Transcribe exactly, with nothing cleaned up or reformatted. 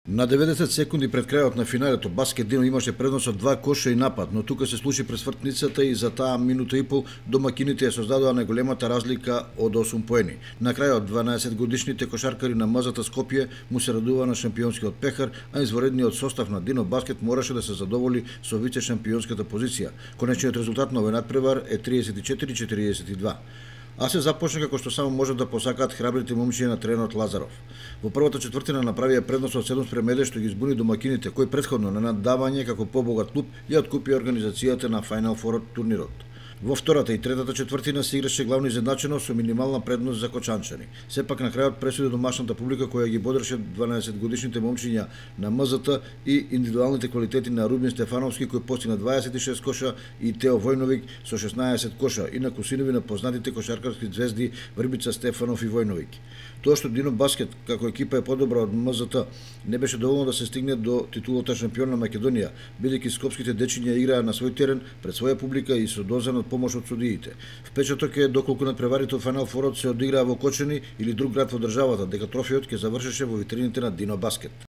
На деветдесет секунди пред крајот на финалето, Баскет Дино имаше предност од два коша и напад, но тука се случи пресвртницата и за таа минута и пол домакините ја создадоа најголемата разлика од осум поени. На крајот дванаесетгодишните кошаркари на МЗТ Скопје му се радува на шампионскиот пехар, а изворедниот состав на Дино Баскет мораше да се задоволи со вице шампионската позиција. Конечниот резултат на овој надпревар е триесет и четири четириесет и два. А се започна како што само можат да посакаат храбрите момчиња на тренерот Лазаров. Во првата четвртина направија предност од седум спрема еден што ги избуни домакините, кои претходно на наддавање како побогат клуб ја откупија организацијата на Final Four турнирот. Во втората и третата четвртина се играше главно изедначено со минимална предност за кочанчани. Сепак на крајот пресуди домашната публика која ги бодреше дванаесетгодишните момчиња на МЗТ и индивидуалните квалитети на Рубин Стефановски кој постигна дваесет и шест коша и Тео Војновик со шеснаесет коша и на кусинови на познатите кошаркарски звезди Врбица, Стефанов и Војновик. Тоа што Дино Баскет како екипа е подобра од МЗТ не беше доволно да се стигне до титулата шампион на Македонија, бидејќи скопските дечиња играа на свој терен пред своја публика и со дозен од помош од судиите. Впечаток е доколку надпреварите од Final Four се одиграа во Кочани или друг град во државата, дека трофеот ќе завршеше во витрините на Дино Баскет.